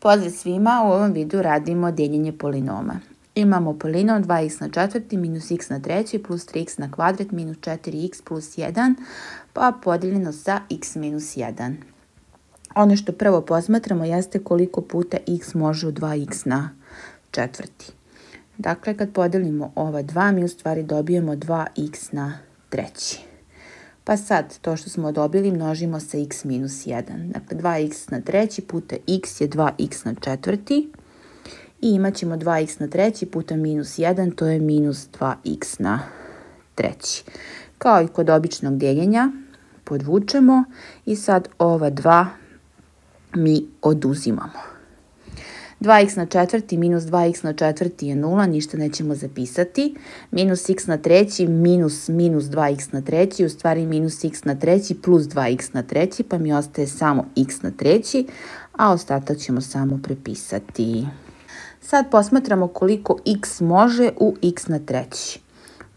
Pozdrav svima, u ovom videu radimo dijeljenje polinoma. Imamo polinom 2x na četvrti minus x na treći plus 3x na kvadrat minus 4x plus 1 pa podijeljeno sa x minus 1. Ono što prvo posmatramo jeste koliko puta x može u 2x na četvrti. Dakle, kad podijelimo ova 2, mi u stvari dobijemo 2x na treći. Pa sad, to što smo dobili množimo sa x minus 1. Dakle, 2x na treći puta x je 2x na četvrti. I imat ćemo 2x na treći puta minus 1, to je minus 2x na treći. Kao i kod običnog dijeljenja, podvučemo i sad ova 2 mi oduzimamo. 2x na četvrti minus 2x na četvrti je 0, ništa nećemo zapisati. Minus x na treći minus 2x na treći, u stvari minus x na treći plus 2x na treći, pa mi ostaje samo x na treći, a ostatak ćemo samo prepisati. Sad posmatramo koliko x može u x na treći.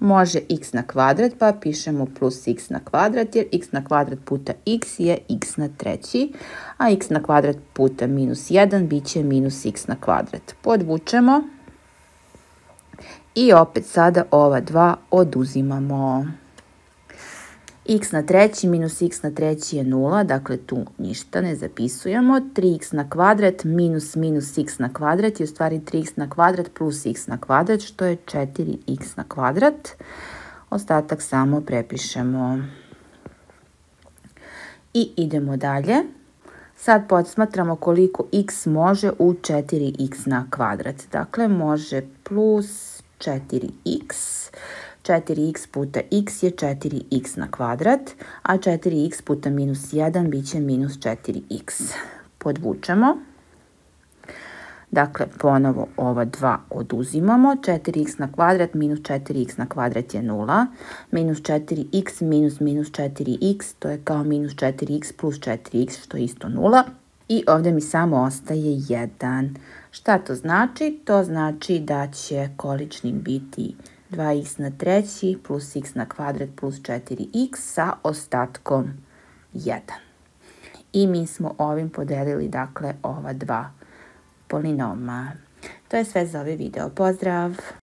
Može x na kvadrat, pa pišemo plus x na kvadrat, jer x na kvadrat puta x je x na treći, a x na kvadrat puta minus 1 bit će minus x na kvadrat. Podvučemo i opet sada ova 2 oduzimamo. X na treći minus x na treći je 0, dakle tu ništa ne zapisujemo. 3x na kvadrat minus x na kvadrat je u stvari 3x na kvadrat plus x na kvadrat, što je 4x na kvadrat. Ostatak samo prepišemo. I idemo dalje. Sad posmatramo koliko x može u 4x na kvadrat. Dakle, može plus 4x. 4x puta x je 4x na kvadrat, a 4x puta minus 1 bit će minus 4x. Podvučemo. Dakle, ponovo ova 2 oduzimamo. 4x na kvadrat minus 4x na kvadrat je 0. Minus 4x minus 4x, to je kao minus 4x plus 4x, što je isto 0. I ovdje mi samo ostaje 1. Šta to znači? To znači da će količnik biti 2x na treći plus x na kvadrat plus 4x sa ostatkom 1. I mi smo ovim podelili, dakle, ova dva polinoma. To je sve za ovaj video. Pozdrav!